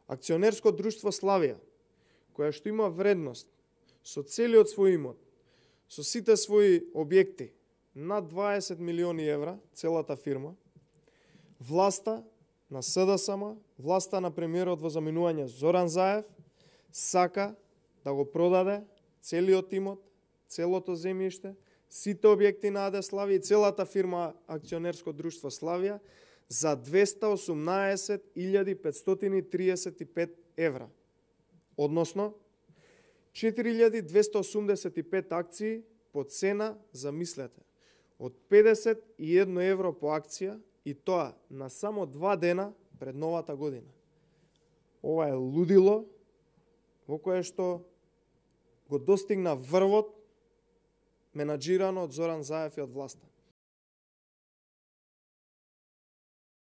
Акционерско друштво Славија, која што има вредност со целиот свој имот, со сите своји објекти, над 20 милиони евра, целата фирма, власта на СДСМ, власта на премиерот во заминување Зоран Заев, сака да го продаде целиот имот, целото земјиште, сите објекти на АД Славија и целата фирма Акционерско друштво Славија за 218.535 евра. Односно, 4.285 акции по цена, замислете, од 51 евро по акција и тоа на само 2 дена пред новата година. Ова е лудило во кое што го достигна врвот менаџирано од Зоран Заев и од власта.